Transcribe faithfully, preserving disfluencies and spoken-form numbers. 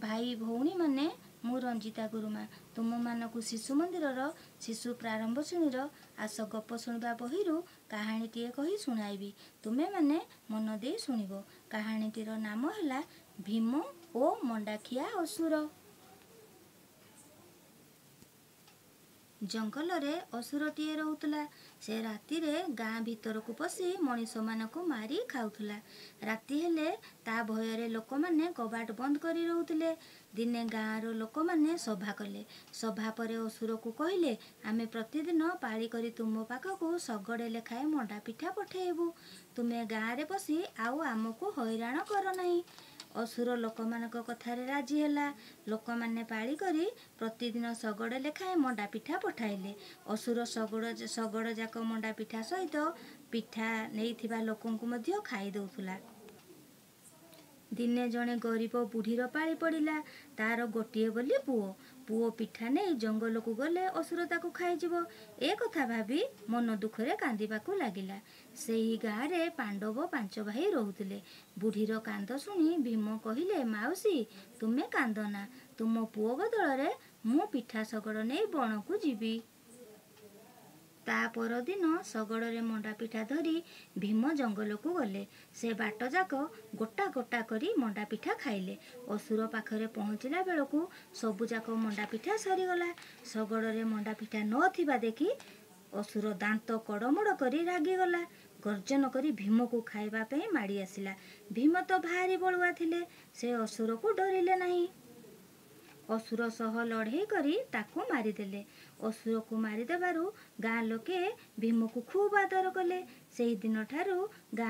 ଭାଇ ଭଉଣୀମାନେ, ମୁଁ ରଞ୍ଜିତା ଗୁରୁମା ତୁମମାନଙ୍କୁ ଶିଶୁ ମନ୍ଦିରର ଶିଶୁ ପ୍ରାରମ୍ଭ ଶ୍ରେଣୀର ଆସ ଗପ ଶୁଣିବା ବହିରୁ କାହାଣୀଟିଏ କହି ଶୁଣାଇବି। ତୁମେମାନେ ମନ ଦେଇ ଶୁଣିବ। କାହାଣୀଟିର ନାମ ହେଲା ଭୀମ ଓ ମଣ୍ଡାଖିଆ ଅସୁର। ଜଙ୍ଗଲରେ ଅସୁରଟିଏ ରହୁଥିଲା। ସେ ରାତିରେ ଗାଁ ଭିତରକୁ ପଶି ମଣିଷମାନଙ୍କୁ ମାରି ଖାଉଥିଲା। ରାତି ହେଲେ ତା ଭୟରେ ଲୋକମାନେ କବାଟ ବନ୍ଦ କରି ରହୁଥିଲେ। ଦିନେ ଗାଁର ଲୋକମାନେ ସଭା କଲେ। ସଭା ପରେ ଅସୁରକୁ କହିଲେ, ଆମେ ପ୍ରତିଦିନ ପାଳି କରି ତୁମ ପାଖକୁ ଶଗଡ଼େ ଲେଖାଏଁ ମଣ୍ଡା ପିଠା ପଠେଇବୁ। ତୁମେ ଗାଁରେ ପଶି ଆଉ ଆମକୁ ହଇରାଣ କର ନାହିଁ। ଅସୁର ଲୋକମାନଙ୍କ କଥାରେ ରାଜି ହେଲା। ଲୋକମାନେ ପାଳି କରି ପ୍ରତିଦିନ ଶଗଡ଼େ ଲେଖାଏଁ ମଣ୍ଡା ପିଠା ପଠାଇଲେ। ଅସୁର ଶଗଡ଼ ଶଗଡ଼ ଯାକ ମଣ୍ଡା ପିଠା ସହିତ ପିଠା ନେଇଥିବା ଲୋକଙ୍କୁ ମଧ୍ୟ ଖାଇ ଦେଉଥିଲା। ଦିନେ ଜଣେ ଗରିବ ବୁଢ଼ୀର ପାଳି ପଡ଼ିଲା। ତାର ଗୋଟିଏ ବୋଲି ପୁଅ। ପୁଅ ପିଠା ନେଇ ଜଙ୍ଗଲକୁ ଗଲେ ଅସୁର ତାକୁ ଖାଇଯିବ, ଏ କଥା ଭାବି ମନ ଦୁଃଖରେ କାନ୍ଦିବାକୁ ଲାଗିଲା। ସେହି ଗାଁରେ ପାଣ୍ଡବ ପାଞ୍ଚ ଭାଇ ରହୁଥିଲେ। ବୁଢ଼ୀର କାନ୍ଦ ଶୁଣି ଭୀମ କହିଲେ, ମାଉସୀ, ତୁମେ କାନ୍ଦନା। ତୁମ ପୁଅ ବଦଳରେ ମୁଁ ପିଠା ଶଗଡ଼ ନେଇ ବଣକୁ ଯିବି। ତା ପରଦିନ ଶଗଡ଼ରେ ମଣ୍ଡା ପିଠା ଧରି ଭୀମ ଜଙ୍ଗଲକୁ ଗଲେ। ସେ ବାଟଯାକ ଗୋଟା ଗୋଟା କରି ମଣ୍ଡା ପିଠା ଖାଇଲେ। ଅସୁର ପାଖରେ ପହଞ୍ଚିଲା ବେଳକୁ ସବୁଯାକ ମଣ୍ଡା ପିଠା ସରିଗଲା। ଶଗଡ଼ରେ ମଣ୍ଡା ପିଠା ନଥିବା ଦେଖି ଅସୁର ଦାନ୍ତ କଡ଼ମଡ଼ କରି ରାଗିଗଲା। ଗର୍ଜନ କରି ଭୀମକୁ ଖାଇବା ପାଇଁ ମାଡ଼ି ଆସିଲା। ଭୀମ ତ ଭାରି ବଳୁଆ ଥିଲେ, ସେ ଅସୁରକୁ ଡରିଲେ ନାହିଁ। ଅସୁର ସହ ଲଢ଼େଇ କରି ତାକୁ ମାରିଦେଲେ। ଅସୁରକୁ ମାରିଦେବାରୁ ଗାଁ ଲୋକେ ଭୀମକୁ ଖୁବ୍ ଆଦର କଲେ। ସେହିଦିନଠାରୁ ଗାଁ